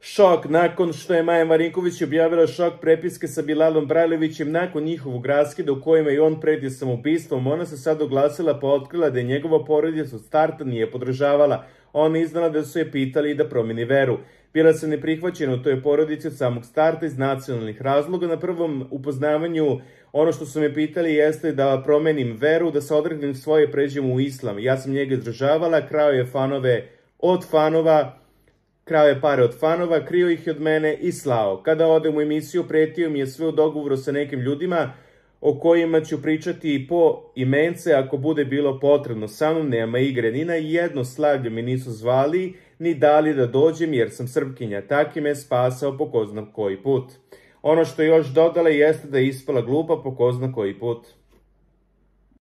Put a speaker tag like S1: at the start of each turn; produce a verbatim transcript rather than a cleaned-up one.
S1: Šok nakon što je Maja Marinković objavila šok prepiske sa Bilalom Brajlovićem nakon njihovog raskida u kojima je on pretio samoubistvom. Ona se sad oglasila pa otkrila da je njegova porodica od starta nije podržavala. Ona iznala da su je pitali da promeni veru. Bila se neprihvaćena u toj porodici od samog starta iz nacionalnih razloga. Na prvom upoznavanju ono što su me pitali jeste da promenim veru, da se odreknem svoje, pređem u islam. Ja sam njega izdržavala, krao je fanove od fanova, krao je pare od fanova, krio ih od mene i slao. Kada odem u emisiju, pretio mi je sve u dogovoru sa nekim ljudima o kojima ću pričati po imence ako bude bilo potrebno. Sa mnom nema igre, ni na jedno slavlje me nisu zvali, ni dali da dođem jer sam Srpkinja. Taki me spasao po ko zna koji put. Ono što je još dodala jeste da je ispala glupa po ko zna koji put.